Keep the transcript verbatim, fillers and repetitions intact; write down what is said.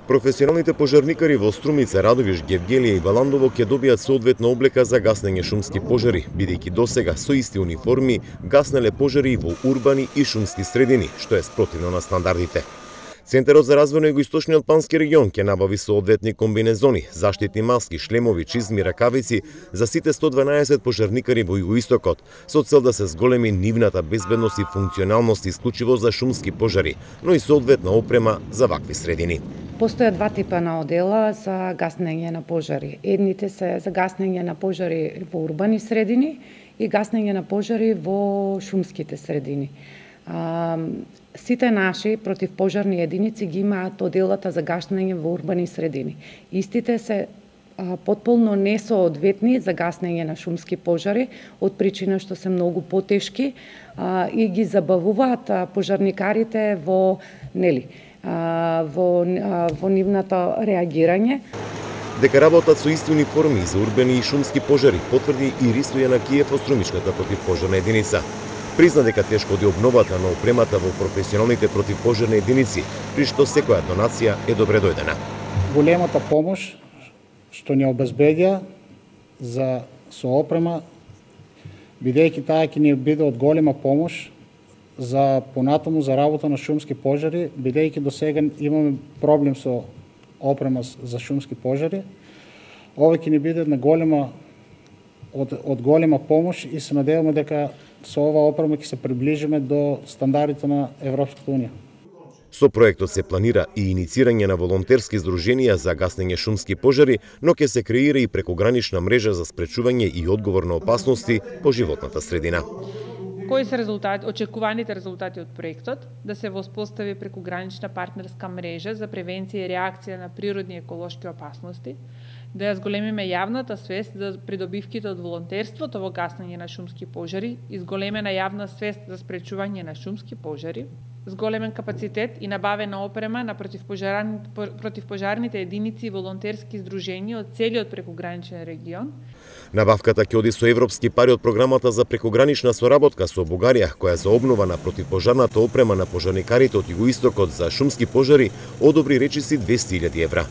Професионалните пожарникари во Струмица, Радовиш, Гевгелија и Валандово ќе добијат соодветна облека за гаснење шумски пожари, бидејќи досега со исти униформи гаснеле пожари во урбани и шумски средини, што е спротивно на стандардите. Центарот за развој на Југоисточниот Бански регион ќе набави соодветни комбинезони, заштитни маски, шлемови, чизми, ракавици за сите сто дванаесет пожарникари во Југоистокот, со цел да се зголеми нивната безбедност и функционалност исклучиво за шумски пожари, но и соодветна опрема за вакви средини. Постојат два типа на одела за гаснење на пожари. Едните се за гаснење на пожари во урбани средини и гаснење на пожари во шумските средини. А, сите наши противпожарни единици ги имаат оделата за гаснење во урбани средини. Истите се а, потполно несоодветни за гаснење на шумски пожари, од причина што се многу потешки а, и ги забавуваат а, пожарникарите во нели во, во нивното реагирање. Дека работат со исти униформи за урбани и шумски пожари, потврди и Ристо Јанакиев од Струмишката противпожарна единица. Призна дека тешко оди обновата на опремата во професионалните противпожарни единици, при што секоја донација е добре дојдена. Големата помош што ни обезбедија за соопрема, бидејќи таа ќе ни биде од голема помош за понатаму за работа на шумски пожари, бидејќи до сега имаме проблем со опрема за шумски пожари. Ова ќе ни биде на голема од, од голема помош и се надеваме дека со ова опрема ќе се приближиме до стандардите на Европската унија. Со проектот се планира и иницирање на волонтерски здруженија за гаснење шумски пожари, но ќе се креира и прекогранична мрежа за спречување и одговор на опасности по животната средина. Кои се резултати, очекуваните резултати од проектот? Да се воспостави прекогранична партнерска мрежа за превенција и реакција на природни и еколошки опасности, да ја зголемиме јавната свест за придобивките од волонтерството во гаснење на шумски пожари, изголемена јавна свест за спречување на шумски пожари, зголемен капацитет и набавена опрема на противпожарните, противпожарните единици и волонтерски здруженија од целиот прекограничен регион. Набавката ќе оди со европски пари од програмата за прекогранична соработка со Бугарија, која за обнова на противпожарната опрема на пожарникарите од Југоистокот за шумски пожари одобри речиси двесте илјади евра.